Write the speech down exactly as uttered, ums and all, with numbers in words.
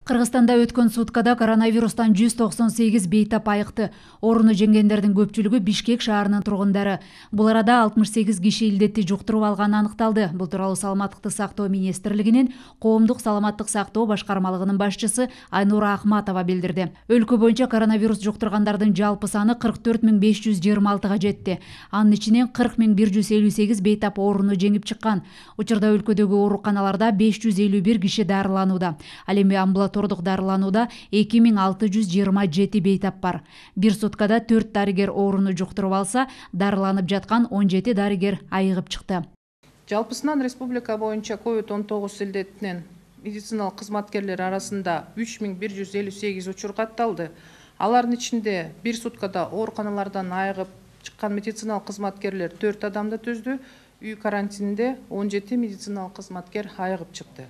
Кыргызстанда өткөн суткада коронавирустан жүз токсон сегиз бейтап айыкты. Ооруну жеңгендердин көпчүлүгү Бишкек шаарынын тургундары. Бул арада алтымыш сегиз киши илдетти жуктуруп алганы аныкталды. Бул тууралуу Саламаттыкты сактоо министрлигинин Коомдук саламаттык сактоо башкармалыгынын башчысы Айнура Ахматова билдирди. Өлкө боюнча коронавирус жуктургандардын жалпы саны кырк төрт миң беш жүз жыйырма алтыга жетти. Анын ичинен кырк миң бир жүз элүү сегиз бейтап ооруну жеңип чыккан. Учурда өлкөдөгү ооруканаларда беш жүз элүү бир киши дарыланууда. Ал эми амбулатордук дарыланууда эки миң алты жүз жыйырма жети бейтап бар. Бир суткада төрт дарыгер ооруну жуктуруп алса, дарыланып жаткан он жети дарыгер айыгып чыкты. Жалпысынан республика боюнча ковид он тогуз илдетинен медициналык кызматкерлер арасында үч миң бир жүз элүү сегиз учур катталды. Алардын ичинде бир суткада ооруканалардан айыгып чыккан медициналык кызматкерлер төрт адамды түздү. Үй карантининде он жети медициналык кызматкер айыгып чыкты.